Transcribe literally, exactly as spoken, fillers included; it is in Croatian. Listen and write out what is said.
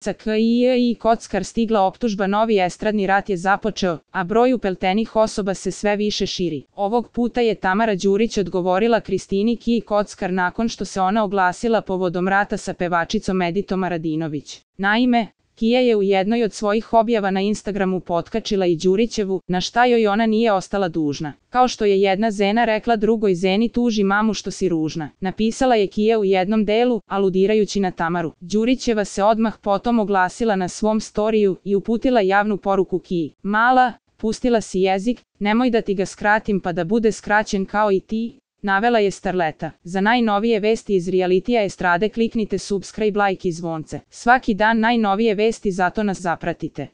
Sa K I I Kockar stigla optužba, novi estradni rat je započeo, a broj upletenih osoba se sve više širi. Ovog puta je Tamara Đurić odgovorila Kristini Kiji Kockar nakon što se ona oglasila povodom rata sa pevačicom Editom Aradinović. Naime, Kija je u jednoj od svojih objava na Instagramu potkačila i Đurićevu, na šta joj ona nije ostala dužna. Kao što je jedna žena rekla drugoj ženi, tuži mamu što si ružna, napisala je Kija u jednom delu, aludirajući na Tamaru. Đurićeva se odmah potom oglasila na svom storiju i uputila javnu poruku Kiji. Mala, pustila si jezik, nemoj da ti ga skratim pa da bude skraćen kao i ti, navela je starleta. Za najnovije vesti iz realitija estrade kliknite subscribe, like i zvonce. Svaki dan najnovije vesti, zato nas zapratite.